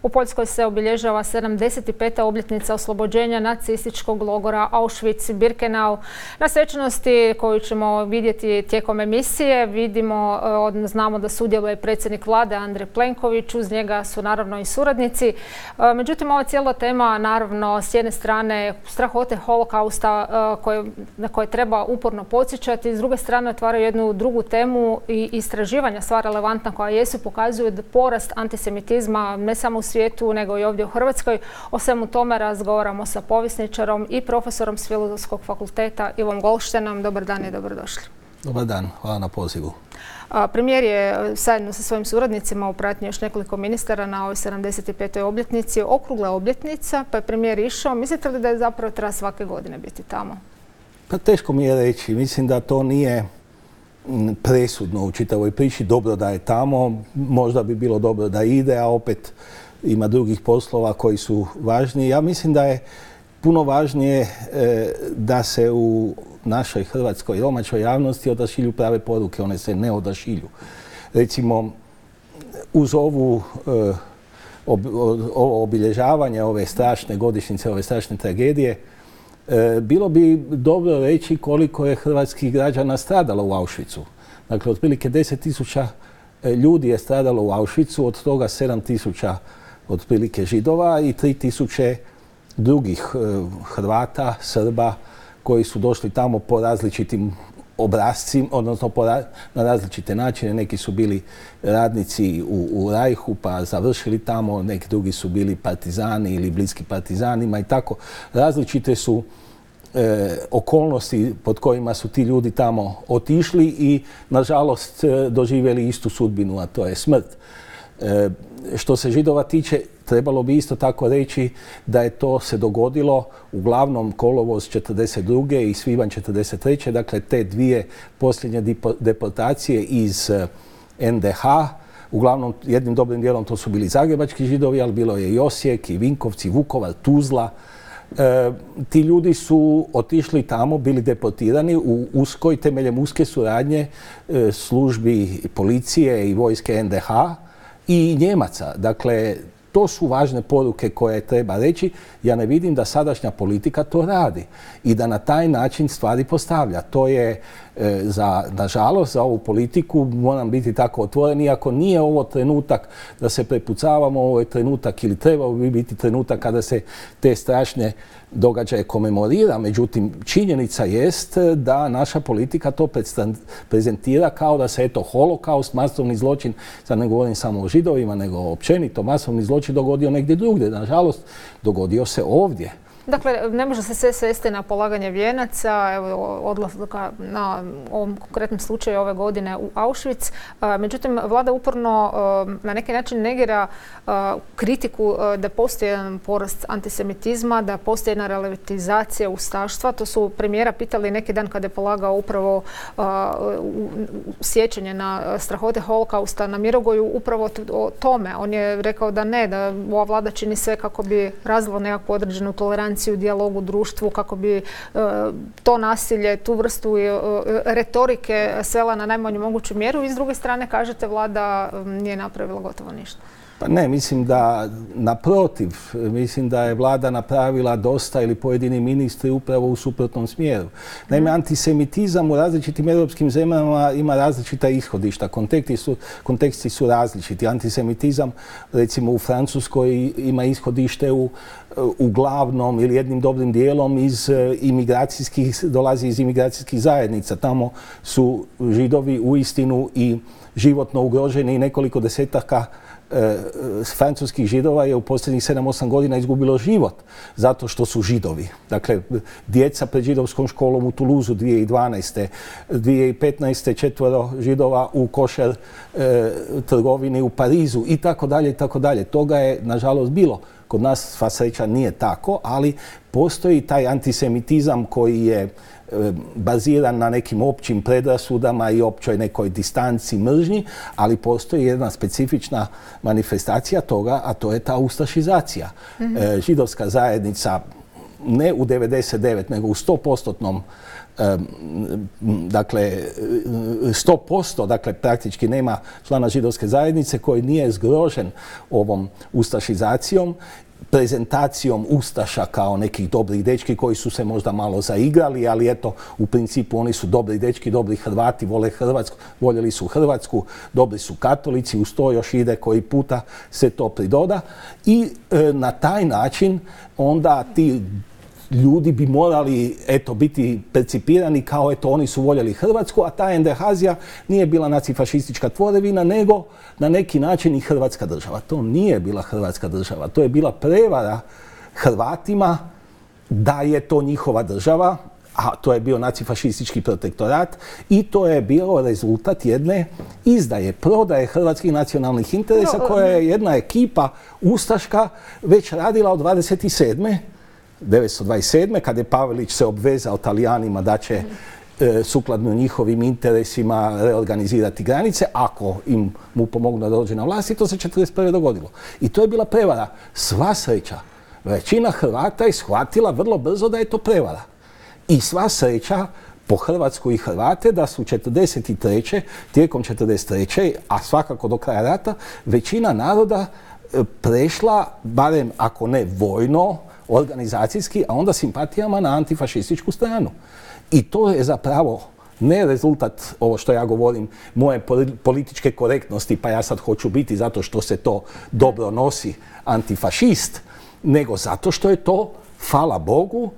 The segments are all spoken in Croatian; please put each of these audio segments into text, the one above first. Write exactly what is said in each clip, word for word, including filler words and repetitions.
U Poljskoj se obilježava sedamdeset peta obljetnica oslobođenja nacističkog logora Auschwitz-Birkenau. Na svečanosti koju ćemo vidjeti tijekom emisije vidimo, znamo da sudjeluje predsjednik vlade Andrej Plenković, uz njega su naravno i suradnici. Međutim, ova cijela tema, naravno, s jedne strane strahote holokausta koje, na koje treba uporno podsjećati, s druge strane otvara jednu drugu temu i istraživanja sva relevantna koja jesu pokazuju da porast antisemitizma ne samo u svijetu nego i ovdje u Hrvatskoj. O svemu tome razgovaramo sa povjesničarom i profesorom s Filozofskog fakulteta Ivom Golštenom. Dobar dan i dobrodošli. Dobar dan, hvala na pozivu. Premijer je zajedno sa svojim suradnicima u pratnji još nekoliko ministara na ovoj sedamdeset petoj obljetnici, okrugla obljetnica, pa je premijer išao. Mislite li da je zapravo treba svake godine biti tamo? Pa teško mi je reći. Mislim da to nije presudno u čitavoj priči. Dobro da je tamo, možda bi bilo dobro da ide, a opet ima drugih poslova koji su važniji. Ja mislim da je puno važnije da se u našoj hrvatskoj domaćoj javnosti odašilju prave poruke. One se ne odašilju. Recimo, uz ovu ovo obilježavanje ove strašne godišnjice, ove strašne tragedije, bilo bi dobro reći koliko je hrvatskih građana stradalo u Auschwitzu. Dakle, otprilike deset tisuća ljudi je stradalo u Auschwitzu, od toga sedam tisuća otprilike Židova i tri tisuće drugih Hrvata, Srba, koji su došli tamo po različitim obrascima, odnosno po ra na različite načine. Neki su bili radnici u, u Rajhu pa završili tamo, neki drugi su bili partizani ili bliski partizanima i tako. Različite su e, okolnosti pod kojima su ti ljudi tamo otišli i nažalost doživjeli istu sudbinu, a to je smrt. E, što se Židova tiče, trebalo bi isto tako reći da je to se dogodilo uglavnom kolovoz četrdeset druge i svibanj četrdeset treće Dakle, te dvije posljednje deportacije iz en de ha. Uglavnom, jednim dobrim dijelom to su bili zagrebački Židovi, ali bilo je i Osijek, i Vinkovci, Vukovar, Tuzla. E, ti ljudi su otišli tamo, bili deportirani u uskoj, temeljem uske suradnje e, službi policije i vojske en de ha i Njemaca. Dakle, to su važne poruke koje treba reći. Ja ne vidim da sadašnja politika to radi i da na taj način stvari postavlja. To je, e, za, nažalost, za ovu politiku, moram biti tako otvoren, iako nije ovo trenutak da se prepucavamo, ovo je trenutak ili trebao bi biti trenutak kada se te strašne događaje komemorira. Međutim, činjenica jest da naša politika to prezentira kao da se, eto, holokaust, masovni zločin, sad ne govorim samo o Židovima, nego općenito masovni zločin dogodio negdje drugdje. Nažalost, dogodio se ovdje. Dakle, ne može se sve svesti na polaganje vijenaca, evo, odlaska na ovom konkretnom slučaju ove godine u Auschwitz. Međutim, vlada uporno na neki način negira kritiku da postoji jedan porast antisemitizma, da postoji jedna relativizacija ustaštva. To su premijera pitali neki dan kada je polagao upravo sjećanje na strahote holokausta na Mirogoju, upravo o tome. On je rekao da ne, da ova vlada čini sve kako bi razvila nekakvu određenu toleranciju u dijalogu u društvu, kako bi uh, to nasilje, tu vrstu uh, retorike svela na najmanju moguću mjeru. I s druge strane, kažete, vlada um, nije napravila gotovo ništa. Pa ne, mislim da naprotiv, mislim da je vlada napravila dosta ili pojedini ministri upravo u suprotnom smjeru. Naime, antisemitizam u različitim europskim zemljama ima različita ishodišta, konteksti su, konteksti su različiti. Antisemitizam, recimo u Francuskoj, ima ishodište u uglavnom ili jednim dobrim dijelom iz imigracijskih, dolazi iz imigracijskih zajednica. Tamo su Židovi uistinu i životno ugroženi i nekoliko desetaka E, francuskih Židova je u posljednjih sedam osam godina izgubilo život zato što su Židovi. Dakle, djeca pred židovskom školom u Toulouseu dvije tisuće dvanaeste dvije tisuće petnaeste četvoro Židova u košer e, trgovini u Parizu i tako dalje i tako dalje. Toga je, nažalost, bilo. Kod nas, sva sreća, nije tako, ali postoji taj antisemitizam koji je baziran na nekim općim predrasudama i općoj nekoj distanci, mržnji, ali postoji jedna specifična manifestacija toga, a to je ta ustašizacija. Mm-hmm. Židovska zajednica ne u devedeset devet nego u sto postotnom dakle, sto posto, dakle, praktički nema člana židovske zajednice koji nije zgrožen ovom ustašizacijom, prezentacijom ustaša kao nekih dobrih dečki koji su se možda malo zaigrali, ali eto, u principu oni su dobri dečki, dobri Hrvati, vole Hrvatsku, voljeli su Hrvatsku, dobri su katolici, uz to još ide koji puta se to pridoda i e, na taj način onda ti ljudi bi morali, eto, biti percipirani kao, eto, oni su voljeli Hrvatsku, a ta Endehazija nije bila nacifašistička tvorevina, nego na neki način i Hrvatska država. To nije bila Hrvatska država, to je bila prevara Hrvatima da je to njihova država, a to je bio nacifašistički protektorat i to je bio rezultat jedne izdaje, prodaje hrvatskih nacionalnih interesa koja je jedna ekipa ustaška već radila od dvadeset sedme devetsto dvadeset sedme kada je Pavelić se obvezao Talijanima da će e, sukladno njihovim interesima reorganizirati granice, ako im mu pomognu da dođe na vlast, i to se četrdeset prve dogodilo. I to je bila prevara. Sva sreća, većina Hrvata je shvatila vrlo brzo da je to prevara. I sva sreća po Hrvatsku i Hrvate da su četrdeset treće tijekom četrdeset treće a svakako do kraja rata, većina naroda e, prešla, barem ako ne vojno, organizacijski, a onda simpatijama na antifašističku stranu. I to je zapravo ne rezultat, ovo što ja govorim, moje političke korektnosti, pa ja sad hoću biti zato što se to dobro nosi antifašist, nego zato što je to, hvala Bogu,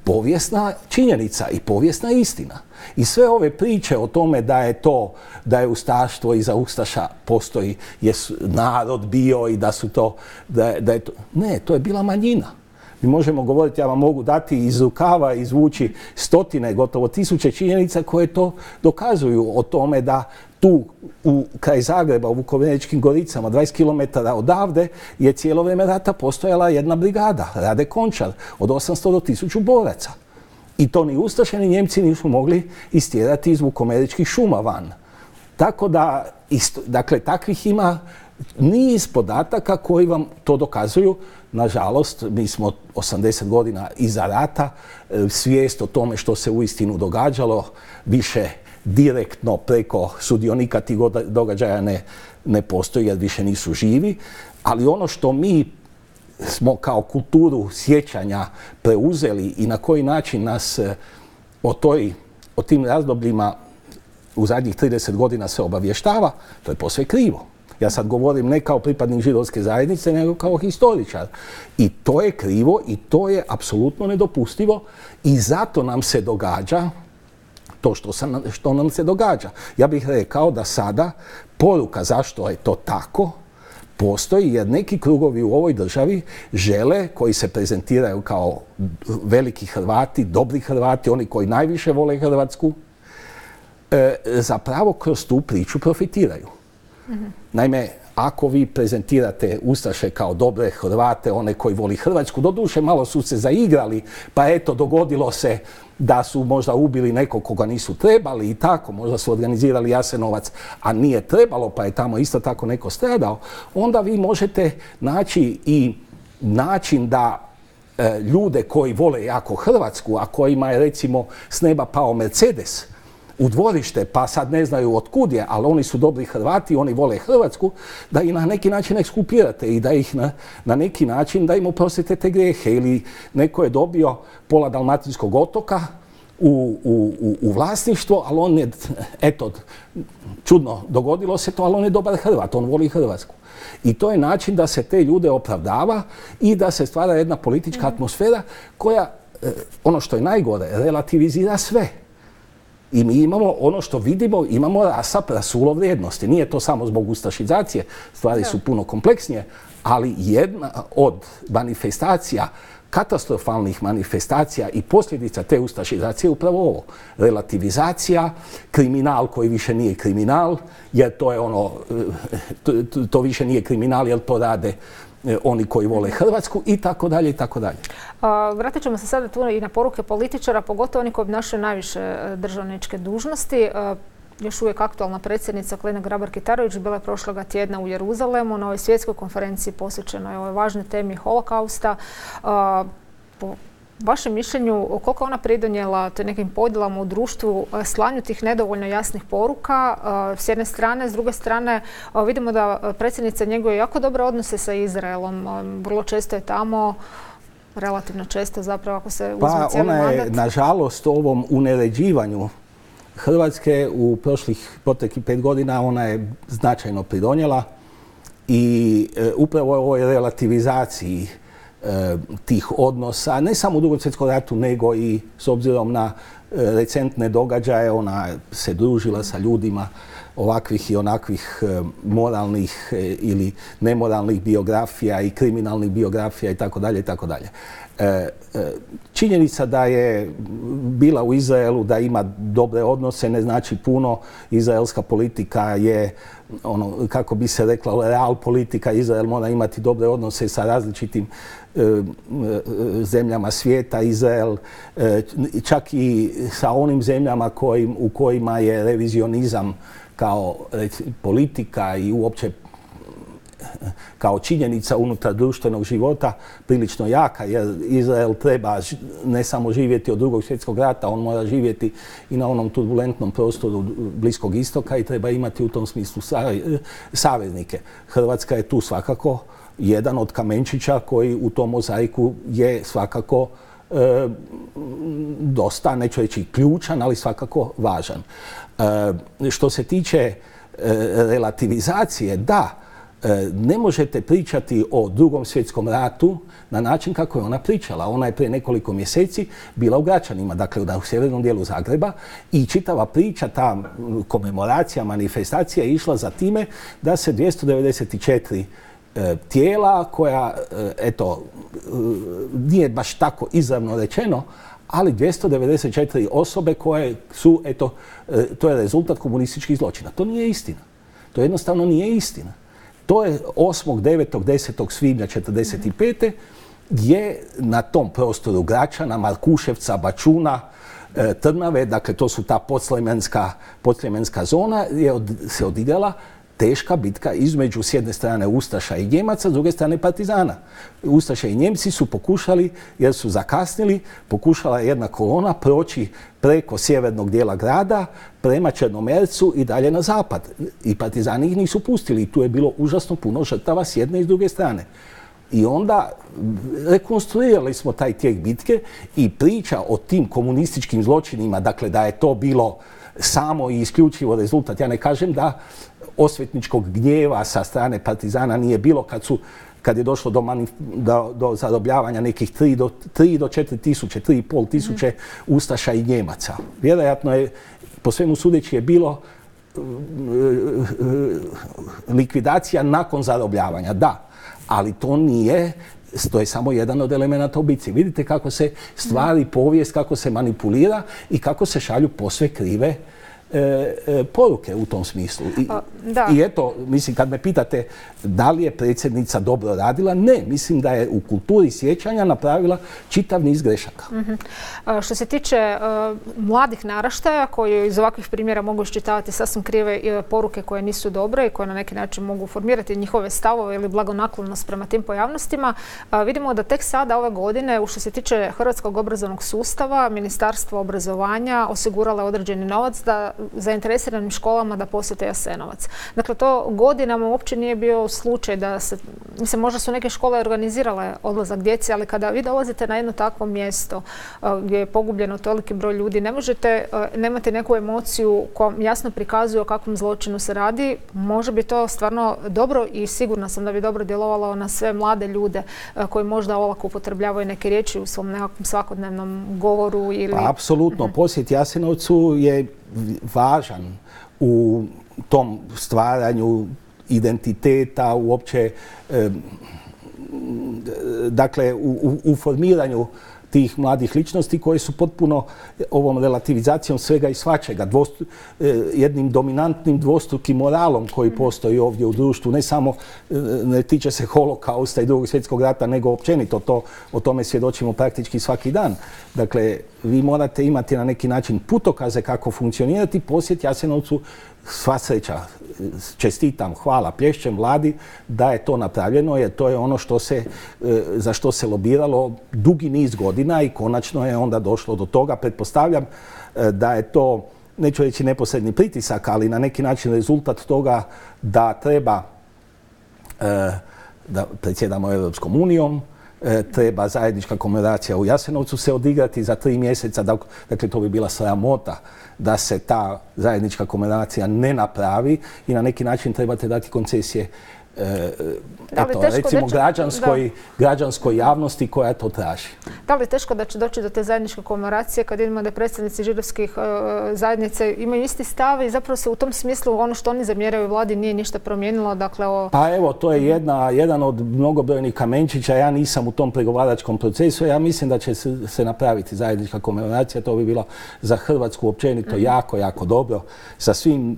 povijesna činjenica i povijesna istina. I sve ove priče o tome da je to, da je ustaštvo iza ustaša postoji, je narod bio i da su to, da, da je to, ne, to je bila manjina. Mi možemo govoriti, ja vam mogu dati iz rukava, izvući stotine, gotovo tisuće činjenica koje to dokazuju o tome da tu u kraj Zagreba, u Vukovarečkim Goricama, dvadeset kilometara odavde, je cijelo vrijeme rata postojala jedna brigada, Rade Končar, od osamsto do tisuću boraca. I to ni ustaše ni Njemci nisu mogli istjerati iz Vukovarečkih šuma van. Tako da, isto, dakle, takvih ima niz podataka koji vam to dokazuju. Nažalost, mi smo osamdeset godina iza rata, svijest o tome što se uistinu događalo više direktno preko sudionika tih događaja ne, ne postoji jer više nisu živi, ali ono što mi smo kao kulturu sjećanja preuzeli i na koji način nas o, toj, o tim razdobljima u zadnjih trideset godina se obavještava, to je posve krivo. Ja sad govorim ne kao pripadnik židovske zajednice, nego kao historičar. I to je krivo i to je apsolutno nedopustivo i zato nam se događa to što, sam, što nam se događa. Ja bih rekao da sada poruka zašto je to tako postoji jer neki krugovi u ovoj državi žele, koji se prezentiraju kao veliki Hrvati, dobri Hrvati, oni koji najviše vole Hrvatsku, e, zapravo kroz tu priču profitiraju. Mm-hmm. Naime, ako vi prezentirate ustaše kao dobre Hrvate, one koji voli Hrvatsku, doduše malo su se zaigrali, pa eto, dogodilo se da su možda ubili nekog koga nisu trebali i tako, možda su organizirali Jasenovac, a nije trebalo, pa je tamo isto tako neko stradao, onda vi možete naći i način da e, ljude koji vole jako Hrvatsku, a kojima je recimo s neba pao Mercedes u dvorište, pa sad ne znaju otkud je, ali oni su dobri Hrvati, oni vole Hrvatsku, da ih na neki način ekskulpirate i da ih na, na neki način, da im oprostite te grijehe. Ili neko je dobio pola Dalmatinskog otoka u, u, u, u vlasništvo, ali on je, eto, čudno dogodilo se to, ali on je dobar Hrvat, on voli Hrvatsku. I to je način da se te ljude opravdava i da se stvara jedna politička atmosfera koja, ono što je najgore, relativizira sve. I mi imamo ono što vidimo, imamo rasap, rasulo vrijednosti. Nije to samo zbog ustašizacije, stvari su puno kompleksnije, ali jedna od manifestacija, katastrofalnih manifestacija i posljedica te ustašizacije je upravo ovo. Relativizacija, kriminal koji više nije kriminal, jer to je ono, to, to više nije kriminal jer to rade oni koji vole Hrvatsku i tako dalje i tako dalje. Vratit ćemo se sada tu i na poruke političara, pogotovo oni koji obnašaju najviše državničke dužnosti. Još uvijek aktualna predsjednica Kolinda Grabar-Kitarović bila je prošloga tjedna u Jeruzalemu na ovoj svjetskoj konferenciji posvećenoj ovoj važnoj temi holokausta. vašem mišljenju, koliko ona pridonijela te nekim podjelama u društvu, slanju tih nedovoljno jasnih poruka s jedne strane, s druge strane vidimo da predsjednica njeguje jako dobre odnose sa Izraelom, vrlo često je tamo, relativno često zapravo ako se uzme pa cijeli mandat. Pa ona je, nažalost, ovom uneređivanju Hrvatske u prošlih proteklih pet godina ona je značajno pridonijela i e, upravo u ovoj relativizaciji e, tih odnosa, ne samo u Drugom svjetskom ratu, nego i s obzirom na e, recentne događaje, ona se družila sa ljudima ovakvih i onakvih e, moralnih e, ili nemoralnih biografija i kriminalnih biografija i tako dalje i tako dalje. Činjenica da je bila u Izraelu, da ima dobre odnose, ne znači puno. Izraelska politika je, ono, kako bi se rekla, real politika. Izrael mora imati dobre odnose sa različitim e, e, zemljama svijeta. Izrael e, čak i sa onim zemljama kojim, u kojima je revizionizam kao reci, politika i uopće kao činjenica unutar društvenog života prilično jaka, jer Izrael treba ne samo živjeti od Drugog svjetskog rata, on mora živjeti i na onom turbulentnom prostoru Bliskog istoka i treba imati u tom smislu saveznike. Hrvatska je tu svakako jedan od kamenčića koji u tom mozaiku je svakako e, dosta, neću reći ključan, ali svakako važan. E, što se tiče e, relativizacije, da, ne možete pričati o Drugom svjetskom ratu na način kako je ona pričala. Ona je prije nekoliko mjeseci bila u Gračanima, dakle u sjevernom dijelu Zagreba, i čitava priča, ta komemoracija, manifestacija je išla za time da se dvjesto devedeset četiri e, tijela koja, e, eto, e, nije baš tako izravno rečeno, ali dvjesto devedeset četiri osobe koje su, eto, e, to je rezultat komunističkih zločina. To nije istina. To jednostavno nije istina. To je osmog, devetog, desetog svibnja četrdeset pete je na tom prostoru Gračana, Markuševca, Bačuna, e, Trnave, dakle to su ta podsljemenska, podsljemenska zona, je od, se odigrala teška bitka između s jedne strane Ustaša i Njemaca, s druge strane Partizana. Ustaše i Njemci su pokušali, jer su zakasnili, pokušala je jedna kolona proći preko sjevernog dijela grada, prema Črnomercu i dalje na zapad. I Partizani ih nisu pustili. I tu je bilo užasno puno žrtava s jedne i s druge strane. I onda rekonstruirali smo taj tijek bitke i priča o tim komunističkim zločinima, dakle da je to bilo samo i isključivo rezultat. Ja ne kažem da osvetničkog gnjeva sa strane Partizana nije bilo kad su kad je došlo do, manif, do, do zarobljavanja nekih tri do četiri tisuće, tri i pol tisuće Ustaša i Njemaca. Vjerojatno je, po svemu sudeći, je bilo likvidacija nakon zarobljavanja, da, ali to nije, to je samo jedan od elemenata u bitci. Vidite kako se stvari, povijest, kako se manipulira i kako se šalju posve krive E, e, poruke u tom smislu. I, A, da. I eto, mislim, kad me pitate da li je predsjednica dobro radila, ne, mislim da je u kulturi sjećanja napravila čitav niz grešaka. Mm-hmm. A, što se tiče uh, mladih naraštaja koji iz ovakvih primjera mogu iščitavati sasvim krive uh, poruke koje nisu dobre i koje na neki način mogu formirati njihove stavove ili blagonaklonost prema tim pojavnostima, uh, vidimo da tek sada ove godine, u što se tiče hrvatskog obrazovnog sustava, Ministarstvo obrazovanja osiguralo određeni novac da zainteresiranim školama da posjete Jasenovac. Dakle, to godinama uopće nije bio slučaj da se, mislim, možda su neke škole organizirale odlazak djece, ali kada vi dolazite na jedno takvo mjesto uh, gdje je pogubljeno toliki broj ljudi, ne možete, uh, nemate neku emociju koja jasno prikazuje o kakvom zločinu se radi. Može bi to stvarno dobro i sigurna sam da bi dobro djelovalo na sve mlade ljude uh, koji možda olako upotrebljavaju neke riječi u svom nekakvom svakodnevnom govoru ili... Pa, apsolutno. Uh-huh. Posjet Jasenovcu je važan u tom stvaranju identiteta, uopće, e, dakle, u, u formiranju tih mladih ličnosti koje su potpuno ovom relativizacijom svega i svačega, dvostu, jednim dominantnim dvostrukim moralom koji postoji ovdje u društvu, ne samo ne tiče se holokausta i Drugog svjetskog rata, nego općenito to, o tome svjedočimo praktički svaki dan. Dakle, vi morate imati na neki način putokaze kako funkcionirati. Posjet Jasenovcu sva sreća, čestitam, hvala, plješćem vladi da je to napravljeno, jer to je ono što se, za što se lobiralo dugi niz godina i konačno je onda došlo do toga. Pretpostavljam da je to, neću reći neposredni pritisak, ali na neki način rezultat toga da treba da predsjedamo Europskom unijom, treba zajednička komemoracija u Jasenovcu se odigrati za tri mjeseca, dakle to bi bila sramota da se ta zajednička komemoracija ne napravi i na neki način trebate dati koncesije e, eto, recimo će, građanskoj, građanskoj javnosti koja to traži. Da li je teško da će doći do te zajedničke komemoracije kad vidimo da predstavnici židovskih e, zajednica imaju isti stav i zapravo se u tom smislu ono što oni zamjeraju vladi nije ništa promijenilo? Dakle, o... Pa evo, to je jedna, jedan od mnogobrojnih kamenčića. Ja nisam u tom pregovaračkom procesu. Ja mislim da će se, se napraviti zajednička komemoracija. To bi bilo za Hrvatsku općenito mm-hmm. jako, jako dobro sa svim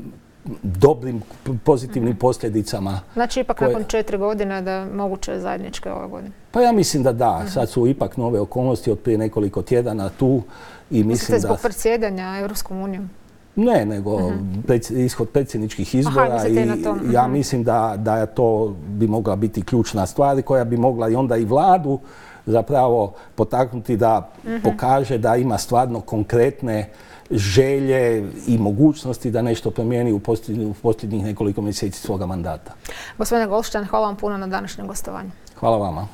dobrim, pozitivnim posljedicama. Znači ipak koje... nakon četiri godine da je moguće zajedničke ove godine? Pa ja mislim da da. Sad su ipak nove okolnosti od prije nekoliko tjedana tu. I mislim zbog da... predsjedanja Europskom unijom? Ne, nego uh-huh. preds, ishod predsjedničkih izbora. Aha, i uh-huh. ja mislim da, da to bi mogla biti ključna stvar koja bi mogla i onda i vladu zapravo potaknuti da uh-huh. pokaže da ima stvarno konkretne želje i mogućnosti da nešto promijeni u posljednjih, u posljednjih nekoliko mjeseci svoga mandata. Gospodine Goldstein, hvala vam puno na današnjem gostovanju. Hvala vama.